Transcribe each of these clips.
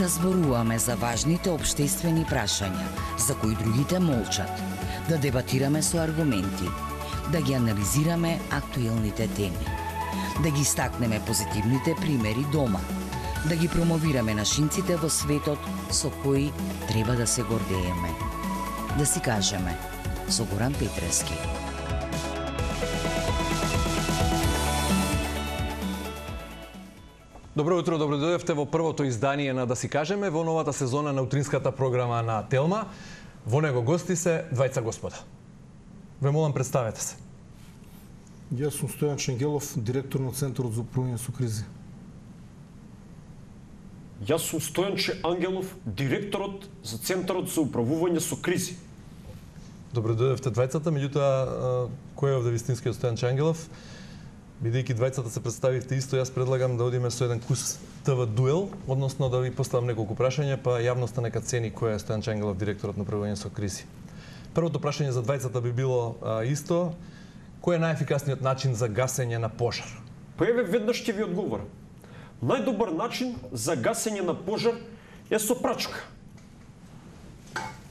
Да зборуваме за важните општествени прашања, за кои другите молчат, да дебатираме со аргументи, да ги анализираме актуелните теми, да ги истакнеме позитивните примери дома, да ги промовираме нашинците во светот со кои треба да се гордееме. Да си кажеме, со Горан Петрески. Добро утро, добро дојдовте во првото издание на Да си кажеме во новата сезона на утринската програма на Телма. Во него гости се двајца господа. Ве молам, представете се. Јас сум Стојан Ченгелов, директор на Центарот за управување со кризи. Јас сум Стојанче Ангелов, директорот за Центарот за управување со кризи. Добро дојдовте двајцата, меѓутоа кој е овде вистинскиот Стојанче Ангелов? Бидејќи двајцата се представивте исто, јас предлагам да одиме со еден кус ТВ дуел, односно да ви поставам неколку прашања, па јавноста нека цени кој е Стојан Ангелов, директорот на управување со кризи. Првото прашање за двајцата би било исто. Кој е најефикасниот начин за гасење на пожар? Па еве веднаш ќе ви одговорам. Најдобар начин за гасење на пожар е со прачка.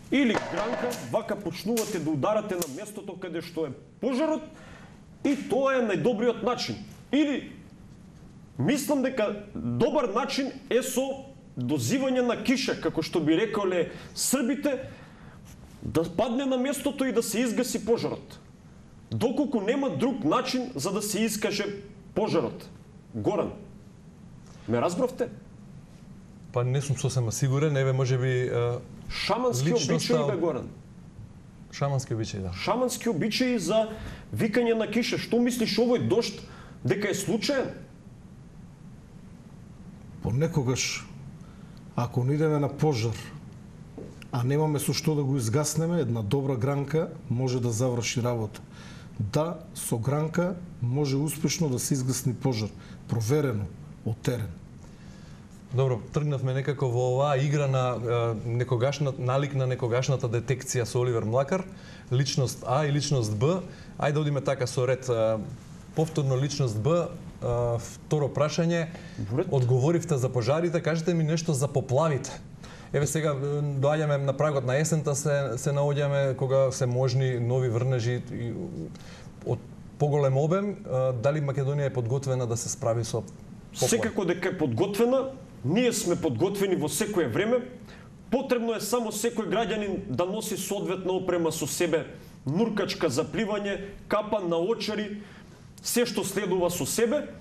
Или гранка, вака почнувате да ударате на местото каде што е пожарот, и тоа е најдобриот начин. Или, мислам дека добар начин е со дозивање на киша, како што би реколе србите, да падне на местото и да се изгаси пожарот. Доколку нема друг начин за да се искаже пожарот. Горан, ме разбравте? Па не сум сосема сигурен, еве можеби шамански обичаи бе, Горан. Шамански обичаи, да. Шамански обичаи за викање на киша. Што мислиш овој дожд дека е случаен? Понекогаш, ако не идеме на пожар, а немаме со што да го изгаснеме, една добра гранка може да заврши работа. Да, со гранка може успешно да се изгасни пожар. Проверено, од терен. Добро, тргнавме некако во оваа игра на налик на некогашната детекција со Оливер Млакар, личност А и личност Б. Ајде да одиме така со ред. Повторно личност Б, второ прашање. Одговоривте за пожарите, кажете ми нешто за поплавите. Еве сега доаѓаме на прагот на есента, се наоѓаме кога се можни нови врнежи од поголем обем. Дали Македонија е подготвена да се справи со поплави? Секако дека е подготвена. Ние сме подготвени во секое време. Потребно е само секој граѓанин да носи соодветна опрема со себе, нуркачка за пливање, капа на очари, се што следува со себе,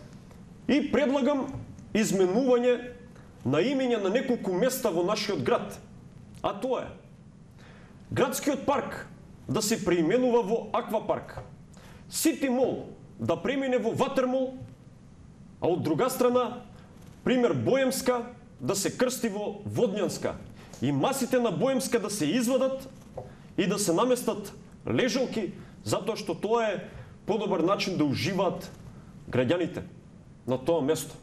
и предлагам изменување на имења на неколку места во нашиот град. А тоа е градскиот парк да се преименува во аквапарк, Сити мол да премине во ватермол, а од друга страна пример Боемска да се крсти во Водњанска, и масите на Боемска да се извадат и да се наместат лежалки, затоа што тоа е подобар начин да уживаат граѓаните на тоа место.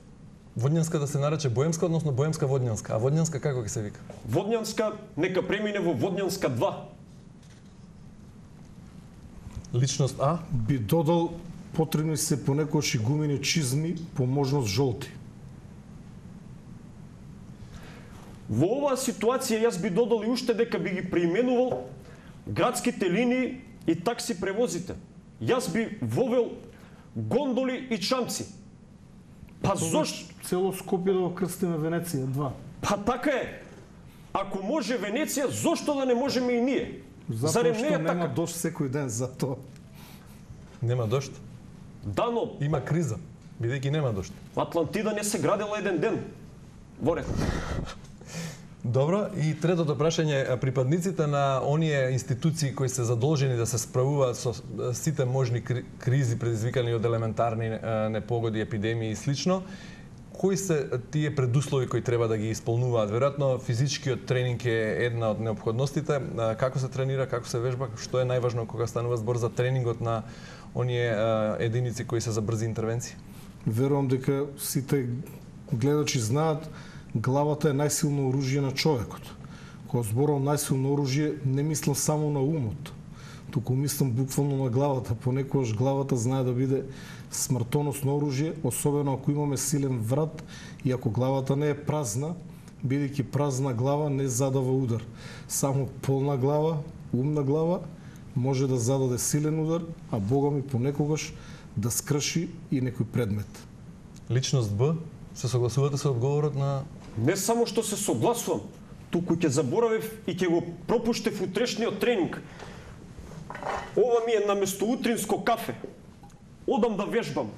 Водњанска да се нарече Боемска, односно Боемска Водњанска. А Водњанска како ќе се вика? Водњанска нека премине во Водњанска 2. Личност А? Би додал, потребни се понекогаш и гумени чизми, по можност жолти. Во оваа ситуација јас би додал и уште дека би ги преименувал градските линии и такси превозите. Јас би вовел гондоли и чамци. Па зошто? Цело Скопје да го крстиме Венеција 2. Па така е. Ако може Венеција, зошто да не можеме и ние? Затоа што нема дожд секој ден, затоа. Нема дожд? Да, но има криза, бидејќи нема дожд. Атлантида не се градела еден ден. Во ред. Добро, и третото прашање, припадниците на оние институции кои се задолжени да се справуваат со сите можни кризи предизвикани од елементарни непогоди, епидемии и слично, кои се тие предуслови кои треба да ги исполнуваат? Веројатно физичкиот тренинг е една од неопходностите. Како се тренира, како се вежба, што е најважно кога станува збор за тренингот на оние единици кои се за брзи интервенции? Верувам дека сите гледачи знаат, главата е најсилно оружје на човекот. Кога зборувам најсилно оружје, не мислам само на умот, туку мислам буквално на главата. Понекогаш главата знае да биде смртоносно оружје, особено ако имаме силен врат и ако главата не е празна, бидејќи празна глава не задава удар. Само полна глава, умна глава може да зададе силен удар, а Бога ми понекогаш да скрши и некој предмет. Личност Б, се согласувате со одговорот на... Не само што се согласувам, туку ќе заборавив и ќе го пропуштев утрешниот тренинг. Ова ми е наместо утринско кафе. Одам да вежбам.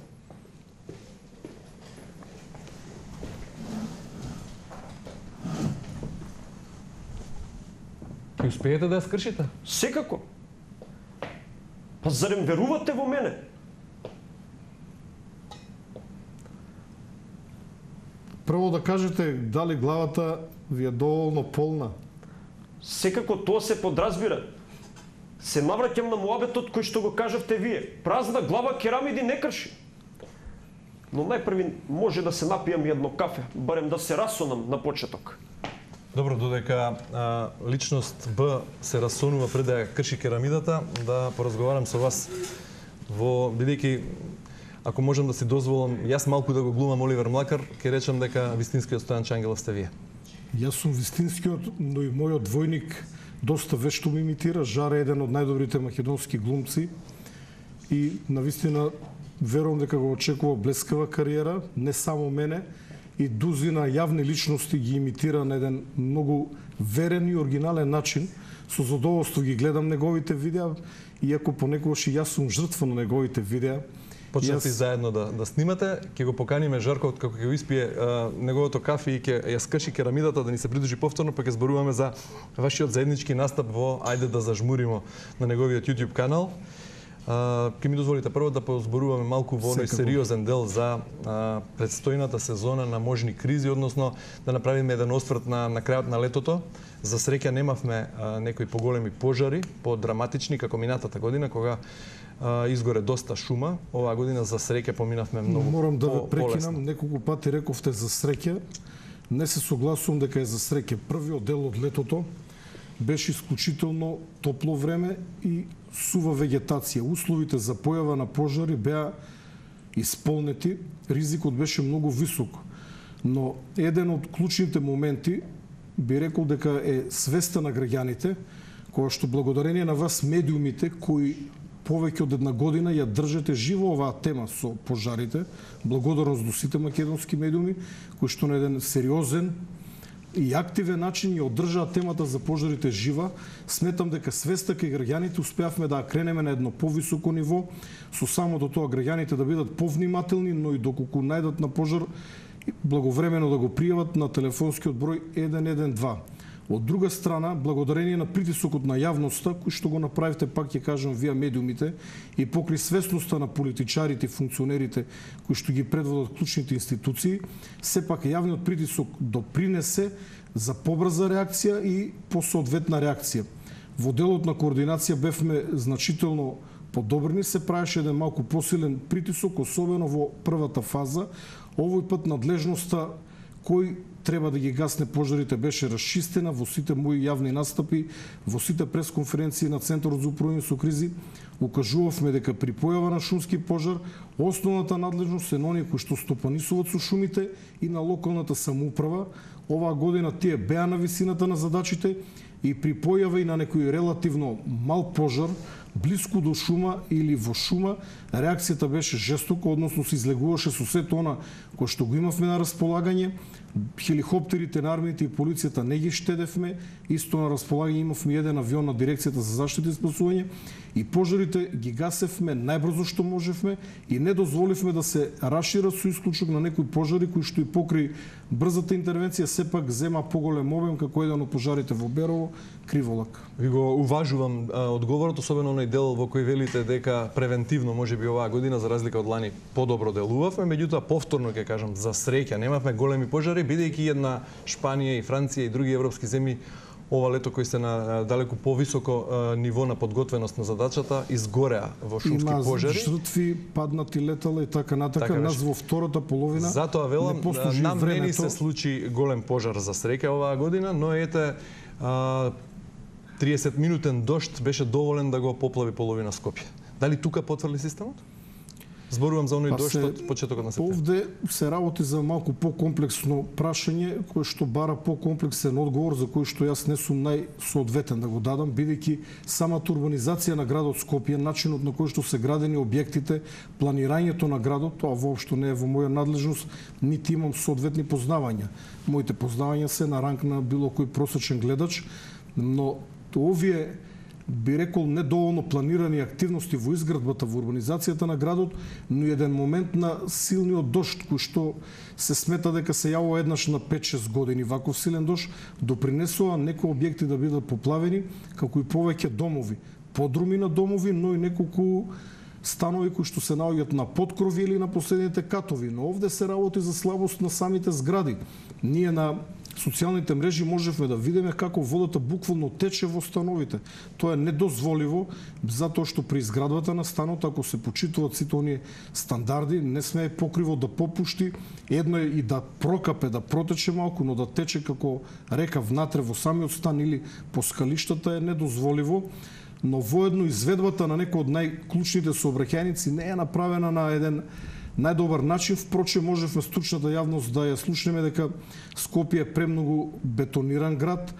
Ќе успеете да ја скршите? Секако. Па зарем верувате во мене? Прво да кажете дали главата ви е доволно полна. Секако тоа се подразбира. Се навраќам на муабетот кој што го кажавте вие. Празна глава керамиди не крши. Но најпрви може да се напијам едно кафе, барем да се расонам на почеток. Добро, додека личност Б се расонува пред да ја крши керамидата, да поразговарам со вас бидејќи ако можам да си дозволам, јас малку да го глумам Оливер Млакар, ќе речам дека вистинскиот Стојан Чангелов сте вие. Јас сум вистинскиот, но и мојот двојник доста вешто ми имитира. Жаре е еден од најдобрите македонски глумци и навистина верувам дека го очекува блескава кариера, не само мене, и дузина јавни личности ги имитира на еден многу верен и оригинален начин. Со задоволство ги гледам неговите видеа, иако понекогаш и јас сум жртва на неговите видеа. Почнати заедно да снимате, ќе го поканиме Жарко како ќе го испие неговото кафе и ќе ја скрши керамидата да ни се придружи повторно, па ќе зборуваме за вашиот заеднички настап во Ајде да зажмуримо на неговиот YouTube канал. Ќе ми дозволите прво да позборуваме малку во оној сериозен дел за предстојната сезона на можни кризи, односно да направиме еден осврт на крајот на летото. За среќа немавме некои поголеми пожари, подраматични како минатата година кога изгоре доста шума. Оваа година за среќа поминавме многу полесно. Морам да ве прекинам, неколку пати рековте за среќа. Не се согласувам дека е за среќа. Првиот дел од летото беше исклучително топло време и сува вегетација. Условите за појава на пожари беа исполнети, ризикот беше многу висок. Но еден од клучните моменти би рекол дека е свеста на граѓаните, која што благодарение на вас медиумите кои повеќе од една година ја држите живо оваа тема со пожарите, благодарност до сите македонски медиуми кои што на еден сериозен и активен начин ја одржаа темата за пожарите жива. Сметам дека свеста кај граѓаните успеавме да кренеме на едно повисоко ниво, со самото тоа граѓаните да бидат повнимателни, но и доколку најдат на пожар, благовремено да го пријават на телефонскиот број 112. Од друга страна, благодарение на притисокот на јавноста, кој што го направивте, пак ќе кажам, вие медиумите, и покри свесноста на политичарите и функционерите кои што ги предводат клучните институции, сепак јавниот притисок допринесе за побрза реакција и посоодветна реакција. Во делот на координација бевме значително подобрени, се правеше еден малку посилен притисок, особено во првата фаза. Овој пат надлежноста кој треба да ги гасне пожарите беше расчистена во сите мои јавни настапи, во сите пресконференции на Центарот за управување со кризи. Укажувавме дека при појава на шумски пожар, основната надлежност е на оние кои што стопанисуваат со шумите и на локалната самоуправа. Оваа година тие беа на висината на задачите и при појава и на некој релативно мал пожар, блиску до шума или во шума, реакцијата беше жестока, односно се излегуваше со сето она кој што го имавме на располагање. Хеликоптерите на армијата и полицијата не ги штедевме, исто на располагање имавме еден авион на дирекцијата за заштита и спасување и пожарите ги гасевме најбрзо што можевме и не дозволивме да се расшират со исклучок на некои пожари кои што и покри брзата интервенција сепак зема поголем обем, како еден од пожарите во Берово, Криволак. Ви го уважувам одговорот, особено оној дел во кој велите дека превентивно можеби оваа година за разлика од лани подобро делувавме, меѓутоа повторно ќе кажам за среќа немавме големи пожари, бидејќи една Шпанија и Франција и други европски земји ова лето кои се на далеку повисоко ниво на подготвеност на задачата изгореа во шумски пожари. Има жртви, паднати летала и така натака. Нас во втората половина затоа велам, нам не ни се случи голем пожар за среќа оваа година, но ете 30 минутен дожд беше доволен да го поплави половина Скопје. Дали тука потврли системот? Зборувам за оној дожд од почетокот на септември. Овде се работи за малку покомплексно прашање, кое што бара покомплексен одговор, за кој што јас не сум најсоодветен да го дадам, бидејќи самата урбанизација на градот Скопје, начинот на кој што се градени објектите, планирањето на градот, тоа воопшто не е во моја надлежност, нити имам соодветни познавања. Моите познавања се на ранг на било кој просечен гледач, но овие би рекол недоволно планирани активности во изградбата, во урбанизацијата на градот, но еден момент на силниот дожд, кој што се смета дека се јавува еднаш на 5-6 години, ваков силен дожд допринесува некои објекти да бидат поплавени, како и повеќе домови, подруми на домови, но и неколку станови кои што се наоѓаат на подкрови или на последните катови. Но овде се работи за слабост на самите згради. Ние на социјалните мрежи можевме да видиме како водата буквално тече во становите. Тоа е недозволиво, затоа што при изградбата на станот, ако се почитуваат сите оние стандарди, не сме покриво да попушти, едно е и да прокапе, да протече малку, но да тече како река внатре во самиот стан или по скалиштата е недозволиво. Но воедно изведбата на некои од најклучните сообраќајници не е направена на еден најдобар начин. Впрочем, можевме стручната јавност да ја слушнеме дека Скопје е премногу бетониран град,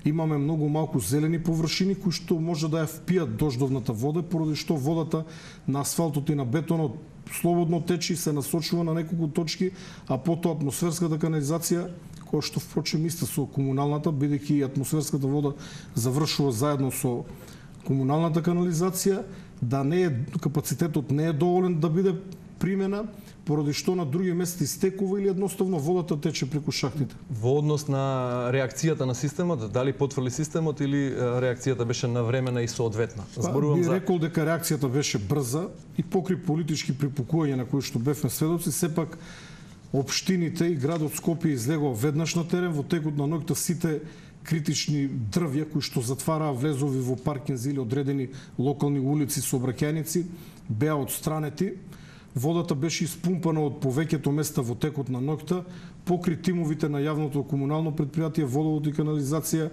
имаме многу малку зелени површини кои што може да ја впијат дождовната вода, поради што водата на асфалтот и на бетонот слободно тече и се насочува на неколку точки, а потоа атмосферската канализација, која што впрочем исто со комуналната, бидејќи атмосферската вода завршува заедно со комуналната канализација, да не е капацитетот не е доволен да биде примена, поради што на други места истекува или едноставно водата тече преку шахтите. Во однос на реакцијата на системот, дали потврли системот или реакцијата беше навремена и соодветна? Би рекол дека реакцијата беше брза и покри политички припукувања на кои што бевме сведоци, сепак општините и градот Скопје излегува веднаш на терен, во текот на ноќта сите критични дрвја кои што затвараа влезови во паркинзи или одредени локални улици сообраќајници беа отстранети. Водата беше испумпана од повеќето места во текот на ноќта, покри тимовите на јавното комунално предпријатие Водовод и канализација,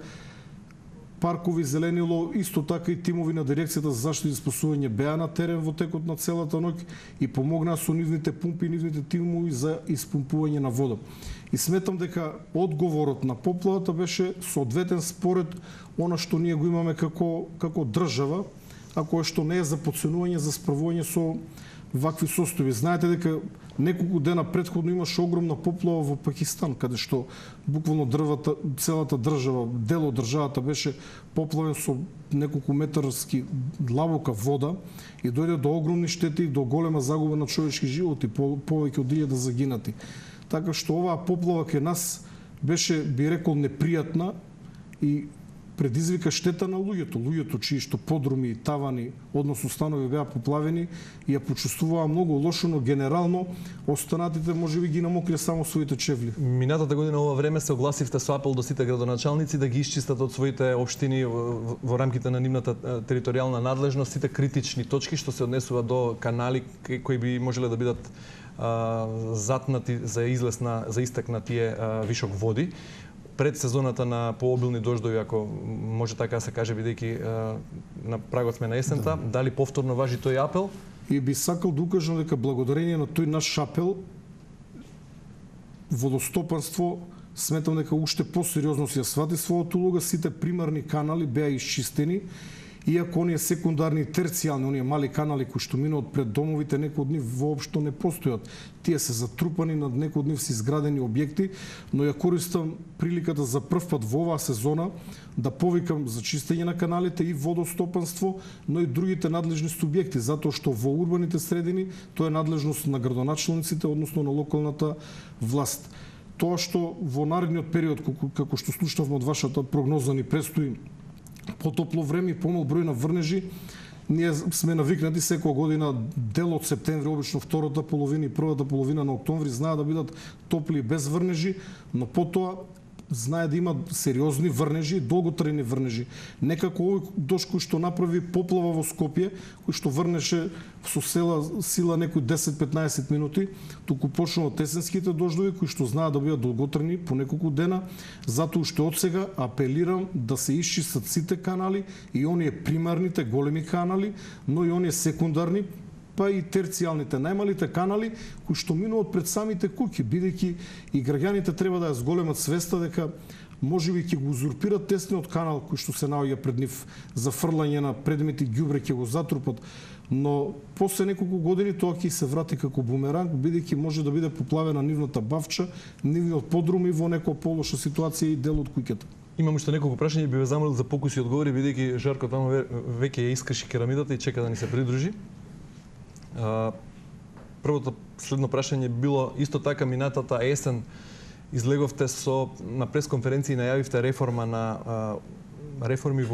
паркови, зеленило, исто така и тимови на дирекцијата за заштита и спасување беа на терен во текот на целата ноќ и помогнаа со нивните пумпи и нивните тимови за испумпување на вода. И сметам дека одговорот на поплавата беше соодветен според она што ние го имаме како држава, а кое што не е за подценување за справување со вакви состојби. Знаете дека неколку дена претходно имаше огромна поплава во Пакистан, каде што буквално целата држава, дел од државата беше поплавен со неколку метарски длабока вода и дојде до огромни штети и до голема загуба на човечки животи, повеќе од 1000 загинати. Така што оваа поплава кај нас беше, би рекол, непријатна и предизвика штета на луѓето чии што подруми, тавани, односно станови беа поплавени и ја почувствуваа многу лошо, но генерално останатите можеби ги намокрија само своите чевли. Минатата година ова време се огласивте со апел до сите градоначалници да ги исчистат од своите општини во рамките на нивната територијална надлежност сите критични точки што се однесува до канали кои би можеле да бидат затнати за истек на тие вишок води. Пред сезоната на пообилни дождови, ако може така да се каже, бидејќи на прагот сме на есента, дали повторно важи тој апел? И би сакал да укажам дека благодарение на тој наш апел, водостопанство сметам дека уште посериозно си ја свати својата улога, сите примарни канали беа исчистени, иако оние секундарни и терцијални, оние мали канали кои што минуваат пред домовите, некои од нив воопшто не постојат. Тие се затрупани, над некои од нив се изградени објекти, но ја користам приликата за прв пат во оваа сезона да повикам за чистење на каналите и водостопанство, но и другите надлежни субјекти, затоа што во урбаните средини тоа е надлежност на градоначалниците, односно на локалната власт. Тоа што во наредниот период, како што слушнавме од вашата прогноза, ни престои потопло време и помал број на врнежи. Ние сме навикнати секоја година дел од септември, обично втората половина и првата половина на октомври знаат да бидат топли без врнежи, но потоа знае да има сериозни врнежи, долготрајни врнежи. Некако овој дожд кој што направи поплава во Скопје, кој што врнеше со сила некои 10-15 минути, туку почнува тесенските дождови кои што знаат да бидат долготрајни по неколку дена, затоа уште од сега апелирам да се исчистат сите канали и оние примарните големи канали, но и оние секундарни па и терцијалните, најмалите канали кои што минуваат пред самите куќи, бидејќи и граѓаните треба да ја зголемат свеста дека можеби ќе го узурпират тесниот канал кој што се наоѓа пред нив за фрлање на предмети ѓубре, ќе го затрупат, но после неколку години тоа ќе се врати како бумеранг, бидејќи може да биде поплавена нивната бавча, нивниот подрум и во некоја полоша ситуација и дел од куќата. Имам уште неколку прашања, би ве замолил за покуси одговори, бидејќи Жарко таму веќе ја искрши керамидата и чека да ни се придружи. Првото следно прашање било исто така минатата есен излеговте на пресконференција и најавивте реформа реформи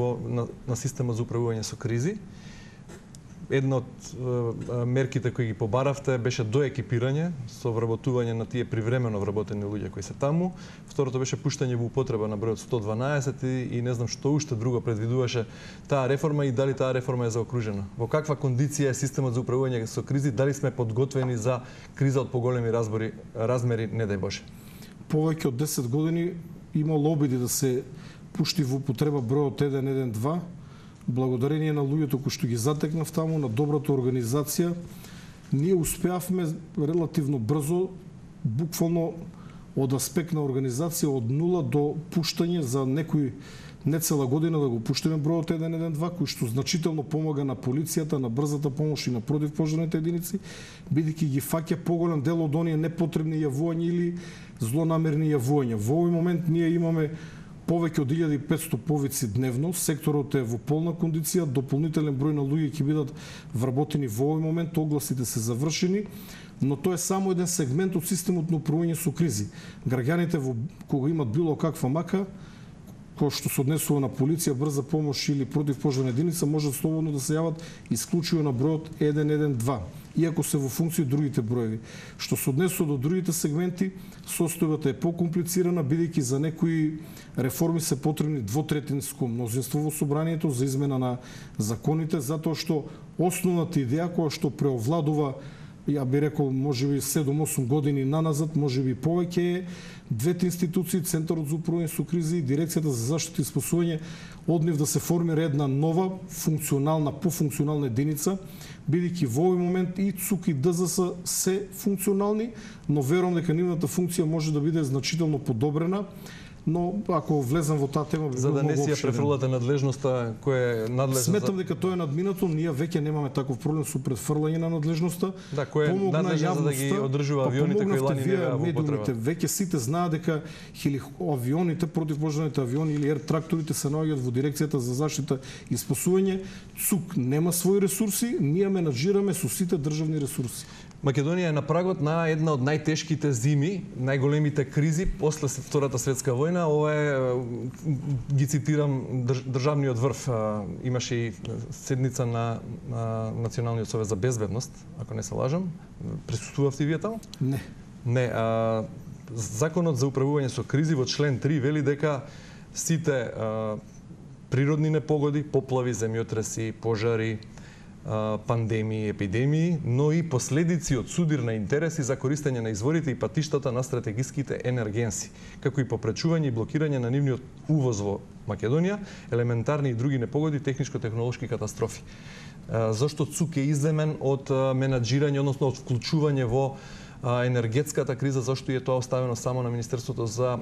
на системот за управување со кризи. Една од мерките кои ги побаравте беше доекипирање со вработување на тие привремено вработени луѓе кои се таму. Второто беше пуштање во употреба на бројот 112 и не знам што уште друго предвидуваше таа реформа и дали таа реформа е заокружена. Во каква кондиција е системот за управување со кризи, дали сме подготвени за криза од поголеми размери, не дај Боже. Повеќе од 10 години имало обиди да се пушти во употреба бројот 112, благодарение на луѓето кои што ги затекнав таму, на добрата организација, ние успеавме релативно брзо, буквално од аспект на организација од нула до пуштање за некој не цела година да го пуштиме бројот 112, кој што значително помага на полицијата, на брзата помош и на противпожарните единици, бидејќи ги фаќа поголем дел од оние непотребни јавувања или злонамерни јавувања. Во овој момент ние имаме повеќе од 1500 повици дневно, секторот е во полна кондиција, дополнителен број на луѓе ќе бидат вработени во овој момент, огласите се завршени, но тоа е само еден сегмент од системот на управување со кризи. Граѓаните кога имат било каква мака, кој што се однесува на полиција, брза помош или противпожарна единица, можат слободно да се јават исклучиво на бројот 112, иако се во функција другите броеви. Што се однесува до другите сегменти, состојбата е покомплицирана, бидејќи за некои реформи се потребни двотретинско мнозинство во собранието за измена на законите, затоа што основната идеја која што преовладува, ја би рекол, можеби 7-8 години наназад, можеби повеќе е двете институции, Центарот за управување со кризи и Дирекцијата за заштита и спасување, од нив да се формира една нова функционална, пофункционална единица, бидејќи во овој момент и ЦУК и ДЗС се функционални, но верувам дека нивната функција може да биде значително подобрена. Но ако влезам во таа тема, за да не си ја префрлате надлежноста која е надлежна. Сметам дека тоа е надминато, ние веќе немаме таков проблем со префрлање на надлежноста. Да, кој е надлежна за да ги одржува авионите кои лани не во употреба. Веќе сите знаат дека авионите, противпожарните авиони или тракторите се наоѓаат во Дирекцијата за заштита и спасување. ЦУК нема своји ресурси, ние менаџираме со сите државни ресурси. Македонија е на прагот на една од најтешките зими, најголемите кризи после Втората светска војна. Ова е, ги цитирам, државниот врв. Имаше и седница на Националниот совет за безбедност, ако не се лажам. Присуствувавте вие таму? Не. Не. Законот за управување со кризи во член 3 вели дека сите природни непогоди, поплави, земјотреси, пожари, пандемии, епидемии, но и последици од судир на интереси за користење на изворите и патиштата на стратегиските енергенси, како и попречување и блокирање на нивниот увоз во Македонија, елементарни и други непогоди, техничко-технолошки катастрофи. Зошто ЦУК е изземен од менаџирање, односно од вклучување во енергетската криза, зашто е тоа оставено само на Министерството за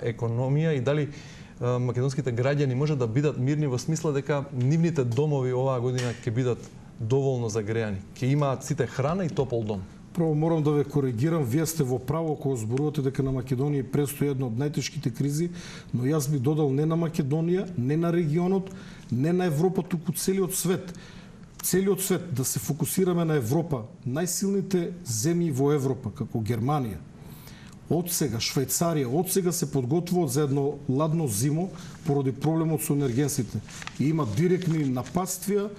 економија и дали македонските граѓани може да бидат мирни во смисла дека нивните домови оваа година ќе бидат доволно загреани, ќе имаат сите храна и топол дом? Прво морам да ве коригирам, вие сте во право кога зборувате дека на Македонија престои една од најтешките кризи, но јас би додал не на Македонија, не на регионот, не на Европа, туку целиот свет. Целиот свет да се фокусираме на Европа, најсилните земји во Европа, како Германија, од сега Швајцарија, од сега се подготвуваат за едно ладно зимо поради проблемот со енергенсите. И има директни нападствија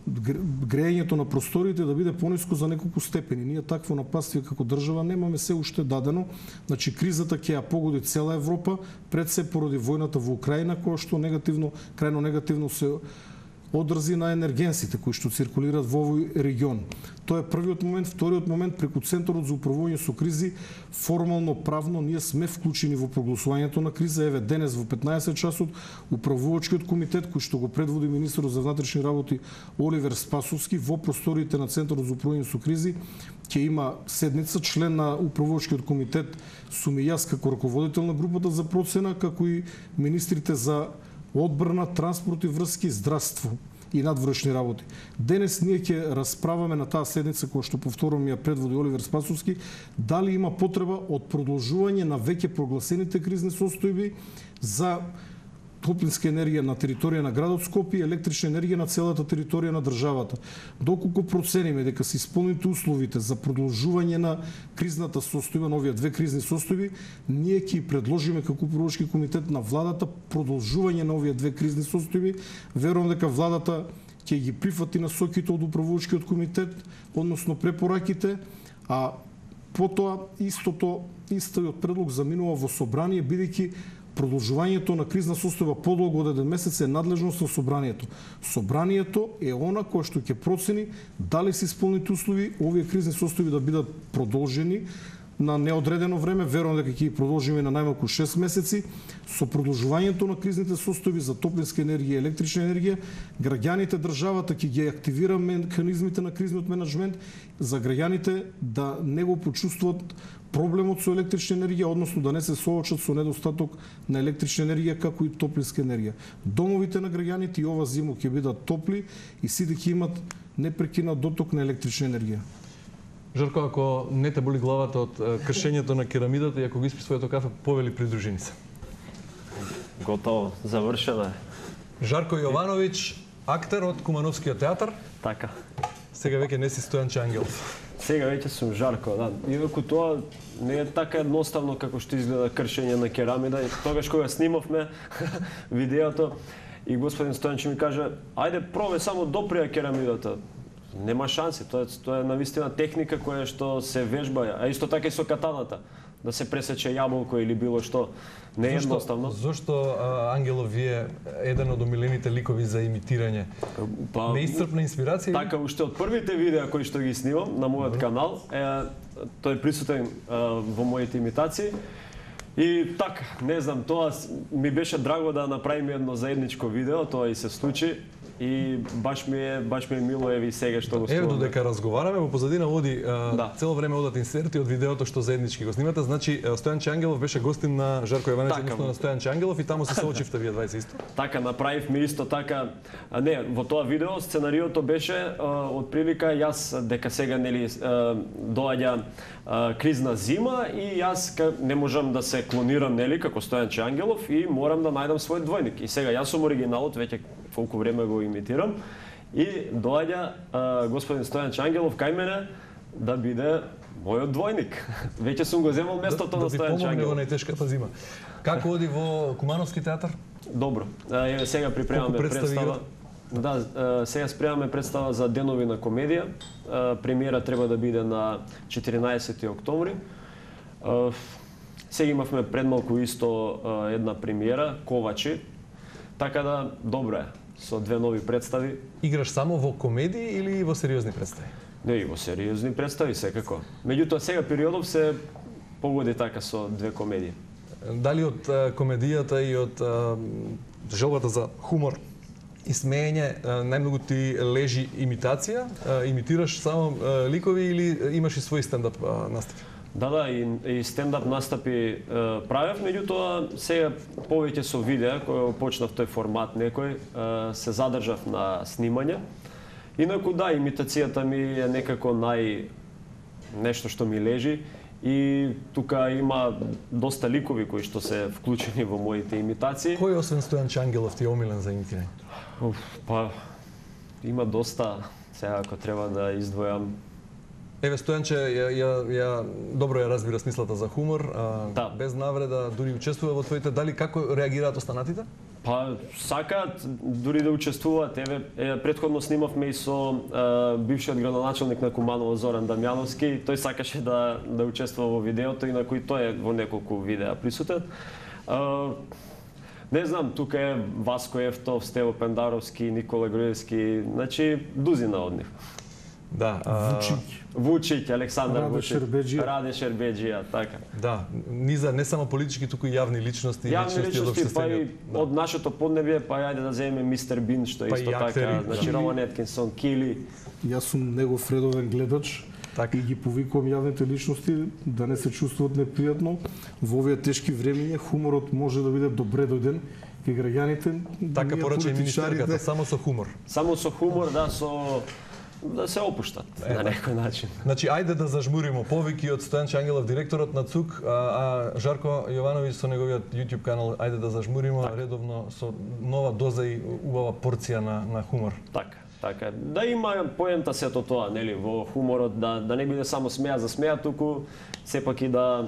грејењето на просториите да биде пониско за неколку степени. Ние такво нападствие како држава немаме се уште дадено. Значи кризата ќе ја погоди цела Европа, пред се поради војната во Украина, која што крајно негативно се одрази на енергенсите кои што циркулираат во овој регион. Тоа е првиот момент. Вториот момент, преку Центарот за управување со кризи, формално правно ние сме вклучени во прогласувањето на криза. Еве денес во 15 часот управувачкиот комитет кој што го предводи министерот за внатрешни работи Оливер Спасовски во просториите на Центарот за управување со кризи ќе има седница. Член на управувачкиот комитет сум и јас како раководител на групата за процена, како и министрите за одбрана, транспорт и врски, здравство и надворешни работи. Денес ние ќе расправаме на таа седница која што повторувам ја предводи Оливер Спасовски, дали има потреба од продолжување на веќе прогласените кризни состојби за топлинска енергија на територија на градот Скопје и електрична енергија на целата територија на државата. Доколку процениме дека се исполните условите за продолжување на кризната состојба, на овие две кризни состојби, ние ќе предложиме како управувачки комитет на владата продолжување на овие две кризни состојби. Верувам дека владата ќе ги прифати насоките од управувачкиот комитет, односно препораките, а потоа истиот предлог заминува во собрание, бидејќи продолжувањето на кризна состојба подолго од 1 месец е надлежност на собранието. Собранието е она кое што ќе процени дали се исполните услови овие кризни состојби да бидат продолжени на неодредено време. Верувам дека ќе ги продолжиме на најмалку 6 месеци. Со продолжувањето на кризните состојби за топлинска енергија и електрична енергија, граѓаните, државата ќе ги активира механизмите на кризниот менаџмент за граѓаните да не го почувствуваат проблемот со електрична енергија, односно да не се соочат со недостаток на електрична енергија како и топлинска енергија. Домовите на граѓаните и ова зиму ќе бидат топли и сите ќе имат непрекинат доток на електрична енергија. Жарко, ако не те боли главата од кршењето на керамидата и ако го испи своето кафе, повели придружени се. Готово, завршено е. Жарко Јовановиќ, актер од Кумановскиот театар. Така. Сега веќе не си Стојанче Ангелов. Сега веќе сум Жарко, да. Иако тоа не е така едноставно како што изгледа кршење на керамида. Тогаш кога снимавме видеото и господин Стојанче ми каже: "Ајде пробај само доприја керамидата." Нема шанси, тоа е навистина техника која што се вежба, а исто така и со катаната, да се пресече јаболко или било што. Не е едноставно. Зошто Ангелов вие еден од омилените ликови за имитирање? Па, неисцрпна инспирација? Така, уште од првите видеа кои што ги снимам на мојот канал, тој е присутен во моите имитации. И така, не знам, тоа ми беше драго да направиме едно заедничко видео, тоа и се случи. И баш ми е мило еви сега што го ствараме. Еве додека разговараме, во позадина оди цело време одат инсерти од видеото што заеднички го снимате. Значи Стојанче Ангелов беше гостин на Жарко Јовановиќ, односно на Стојанче Ангелов и таму се соочивте вие двајца исто. Така направивме исто така. Не, во тоа видео сценариото беше од прилика јас дека сега нели доаѓа кризна зима и јас не можам да се клонирам нели како Стојанче Ангелов и морам да најдам свој двојник. И сега јас сум оригиналот, веќе колку време го имитирам и доаѓа господин Стојанче Ангелов кај мене да биде мојот двојник. Веќе сум го земал местото на Стојанче Ангелов. Да ви помогне во најтешката зима. Како оди во Кумановски театар? Добро. Еве сега припремаме представа. Да, сега спремаме представа за Денови на комедија. Премиера треба да биде на 14 октомври. Сега имавме предмалку исто една премиера, Ковачи. Така да, добро е, со две нови представи. Играш само во комедии или во сериозни представи? Не, и во сериозни представи, секако. Меѓутоа, сега периодов се погоди така со две комедии. Дали од комедијата и од желбата за хумор и смеење најмногу ти лежи имитација? Имитираш само ликови или имаш и свој стендап настапи? Да, и стендап настапи правев, меѓутоа сега повеќе со видеа, кој почнав тој формат некој, се задржав на снимање. Инаку да, имитацијата ми е некако нешто што ми лежи и тука има доста ликови кои што се вклучени во моите имитации. Кој освен Стојанче Ангелов ти е омилен за имитирање? Па има доста, сега ако треба да издвојам. Еве Стојанче ја добро ја разбира смислата за хумор, да. Без навреда, дури учествува во твоите. Дали како реагираат останатите? Па сакаат дури да учествуваат. Еве претходно снимавме и со бившиот градоначелник на Куманово Зоран Дамјановски. Тој сакаше да учествува во видеото, инаку и тој е во неколку видеа присутен. Не знам, тука е Васко Ефтов, Стево Пендаровски, Никола Груевски, значи дузина од нив. Да, Вучиќ, Александар Раде Вучиќ, Шербеджија. Раде Шербеджија, така. да, низа не само политички, туку и јавни личности, Јавни од личности, па и општествениот. од нашето поднебие, па ајде да земеме Мистер Бин, што е Па и исто така, актери, значи да. Роман Еткинсон, Кили. Јас сум негов редовен гледач Така. и ги повикувам јавните личности да не се чувствуваат непријатно. Во овие тешки времиња хуморот може да биде добре дојден и граѓаните, Така ние порача и министерката, политичарите, само со хумор. Само со хумор, да се опуштат на некој начин. Значи, ајде да зажмуримо повеќе од Стојанче Ангелов, директорот на ЦУК, а Жарко Јовановиќ со неговиот YouTube канал, ајде да зажмуримо редовно со нова доза и убава порција на хумор. Така. Да има поента сето тоа, нели, во хуморот, да не биде само смеа за смеа, туку сепак и да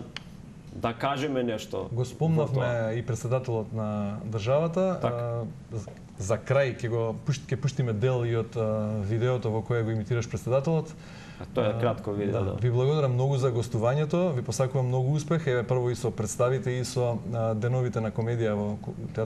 кажеме нешто. Го спомнавме и председателот на државата. За крај ќе пуштиме дел и од видеото во кое го имитираш председателот. Тоа е кратко видео, да. Ви благодарам многу за гостувањето, ви посакувам многу успех, еве прво и со представите и со деновите на комедија во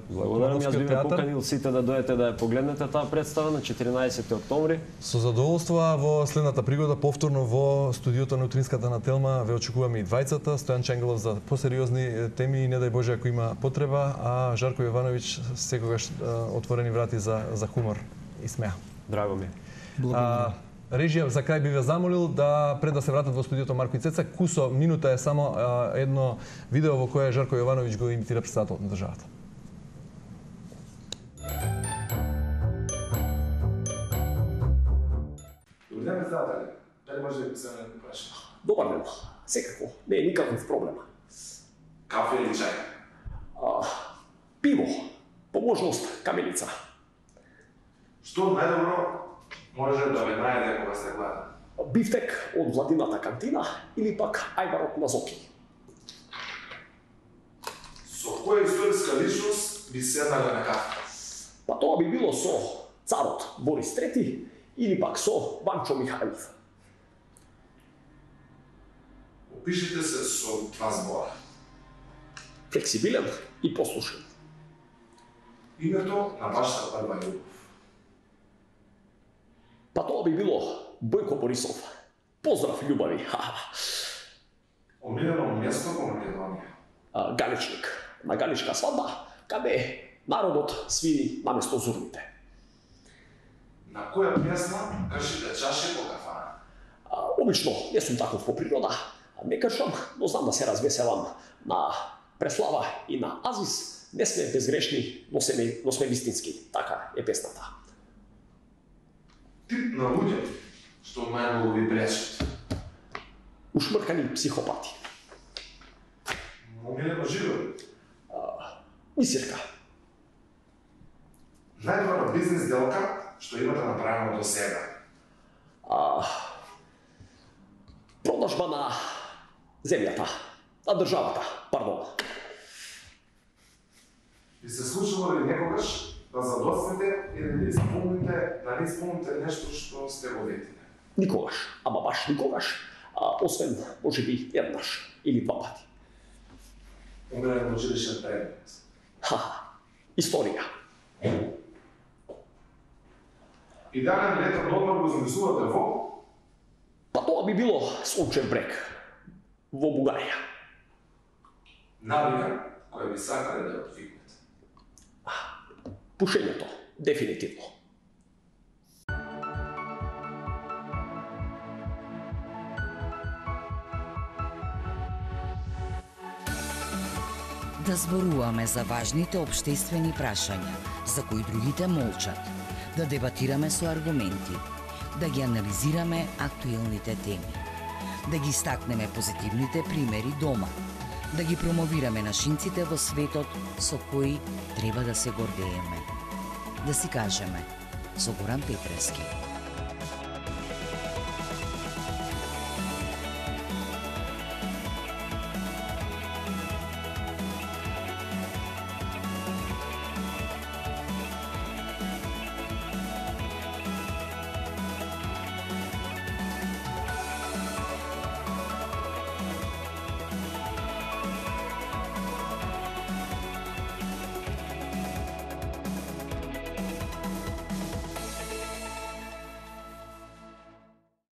Благодарам, јас би ве театар. поканил сите да дојдете да ја погледнете таа представа на 14 октомври. Со задоволство, во следната пригода повторно во студиото на Утринската на Телма ве очекуваме и двајцата, Стојан Чангелов за посериозни теми и не дај Боже ако има потреба, а Жарко Јовановиќ секогаш отворени врати за хумор и смеа. Драго ми. Режија, за крај би ве замолил да пред да се вратат во студиото Марко и Цеца, кусо минута е само едно видео во кое Жарко Јовановиќ го имитира председателот на државата. Добри ден, председатели. Дали може да ви се некој праша? Добар ден, секако, не е никаков проблем. Кафе или чај? Пиво, по можност каменица. Што најдобро може да ве најде кога сте гладни? Бифтек од владината кантина или пак ајварот на Зоки. Со која историска личност би седнале на кафе? Па тоа би било со царот Борис III или пак со Ванчо Михајлов. Опишете се со два збора. Флексибилен и послушен. Името на вашата прва љубов. Па тоа би било Бојко Борисов. Поздрав, љубави. Омилено место во Македонија. Галичник. На галичка свадба, каде народот свири наместо зурните. На која песна кршите чаши по кафана? Обично не сум таков по природа, не кршам, но знам да се развеселам на Преслава и на Азис. Не сме безгрешни, но сме вистински. Така е песната. Тип на луѓе што најмногу ви пречат. Ушмркани психопати. Омилено живот. Мисирка. Најдобра бизнес делка што имате направено до сега. Продажба на земјата. На државата, пардон. Ви се случило ли некогаш да задоцнете или да не исполните нешто што сте го ветиле? Никогаш, ама баш никогаш, освен можеби еднаш или два пати. Умерен училишен предмет. Историја. Идеален летен одмор го замислувате во? Па тоа би било Сончев брег во Бугарија. Навика која би сакале да отвикнете. Пушењето, дефинитивно. Да зборуваме за важните општествени прашања, за кои другите молчат, да дебатираме со аргументи, да ги анализираме актуелните теми, да ги стакнеме позитивните примери дома, да ги промовираме нашинците во светот со кои треба да се гордееме. Да си кажеме, со Горан Петрески.